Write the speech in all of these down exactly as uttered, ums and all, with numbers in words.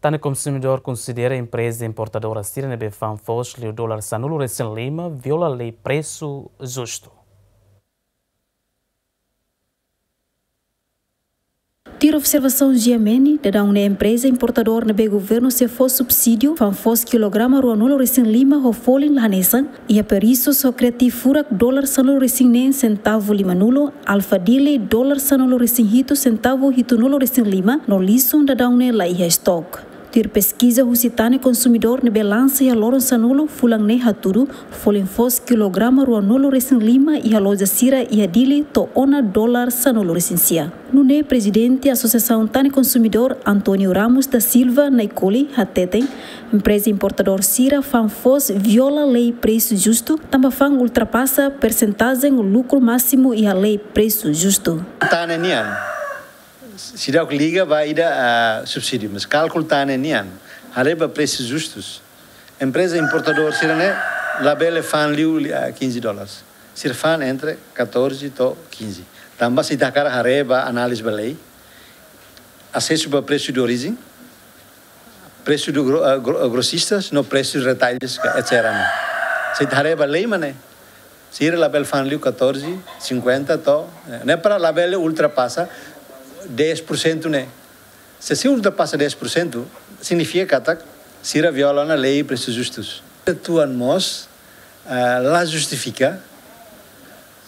Tane konsumidór konsidera empreza importadora sira ne'ebé fa'an foos liu dolar sanulu resin lima viola lei presu justu. Tuir observasaun G M N, daudaun ne'e empreza importadór ne'ebé governu sei fó subsídiu fa'an foos kilograma ruanulu resin lima ho folin la hanesan, iha Perissus ho Creative furak dolar sanulu resin neen sentavu limanulu, Alpha Deli dolar sanulu resin hitu sentavu hitunulu resin lima, no lisun daudaun ne'e la iha estok. Tuir peskiza husi Tane konsumidór ne'ebé lansa iha loron sanulu fulan ne'e hatudu, folin foos kilograma ruanulu resin lima iha loja sira iha Dili to'o ona dolar sanulu resin sia. Nune'e Prezidente Asosiasaun Tane Konsumidór, António Ramos da Silva Naikoli, hateten, empreza importadór sira fa'an foos viola lei presu justu, tanba fa'an ultrapasa persentajen lukru másimu iha lei presu justu. Tane nian, seidauk liga ba ida, ah, subsídiu, mas kálkulu Tane nian, haree ba presu justus. Empreza importadór sira-ne'e labele fa'an liu, ah, quinze dólares. Sira fa'an entre catorze to'o quinze. Tanba se ita hakarak haree ba análize ba lei, asesu ba presu de orijen, presu de gro-, ah, gro-, ah, grosistas, no presu de retalhos, ka, et cetera ne'e. Se ita haree ba lei mak ne'e, sira labele fa'an liu catorze cinquenta to'o, eh, ne'e para labele ultrapasa dez por cento ne'e. Se sira ultrapasa dez por cento, signifika katak sira viola ona lei presu justus. Tuan mós, ah, la justifika,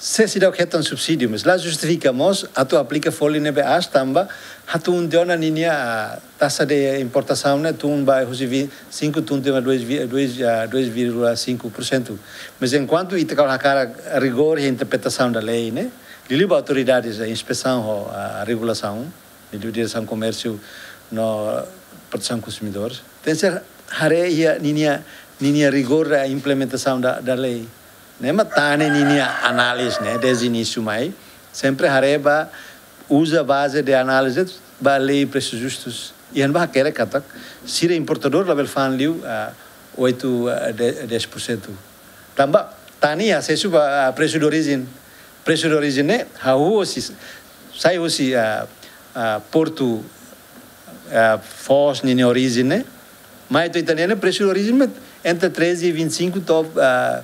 se seidauk hetan subsídiu, mas la justifika mós atu aplika folin ne'ebé aas tanba hatún tiha ona ninia, ah, taxa de importasaun ne'e tun ba husi vi-, cinco tun tiha ona dois vi-, dois, ah, dois vírgula cinco por cento. Mas enkuantu ita hakarak rigór iha interpretasaun da lei ne'e, liuliu ba autoridades, ah, inspesaun ho, ah, regulasaun, liuliu Diresaun Komérsiu no Protesaun Konsumidór, tenke haree iha ninia, ninia rigór da implementasaun da, da lei. Ne'e mak Tane ninia análize ne'e, dezde inísiu mai, sempre haree ba, uza baze de análize ba lei presu justus. Iha ne'ebá hakerek katak sira importadór labele fa'an liu, ah, oito, ah, de-, dez por cento. Tanba Tane asesu ba, ah, presu de orijen. Presu de orijen ne'e hahú husi, sai husi, ah, ah, portu, ah, foos ninia orijen ne'e. Mai to'o ita-nia ne'e presu de orijen mak entre treze e vinte e cinco to'o, ah,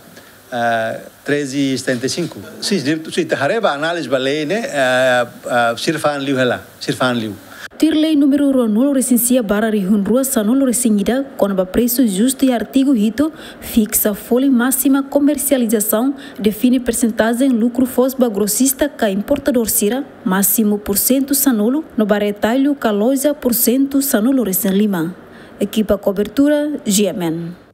ah, treze e setenta e cinco. Sin, se, se ita haree ba análize ba lei ne'e, ah, ah, sira fa'an liu hela, sira fa'an liu. Tuir lei númeru ruanulu resin sia barra rihun rua sanulu resin ida, kona-ba presu justu iha artigu hitu, fiksa folin másima komersializasaun, define persentajen lukru foos ba grosista ka importadór sira, másimu pursentu sanulu, no ba retalhu ka loja pursentu sanulu resin lima. Ekipa kobertura, G M N.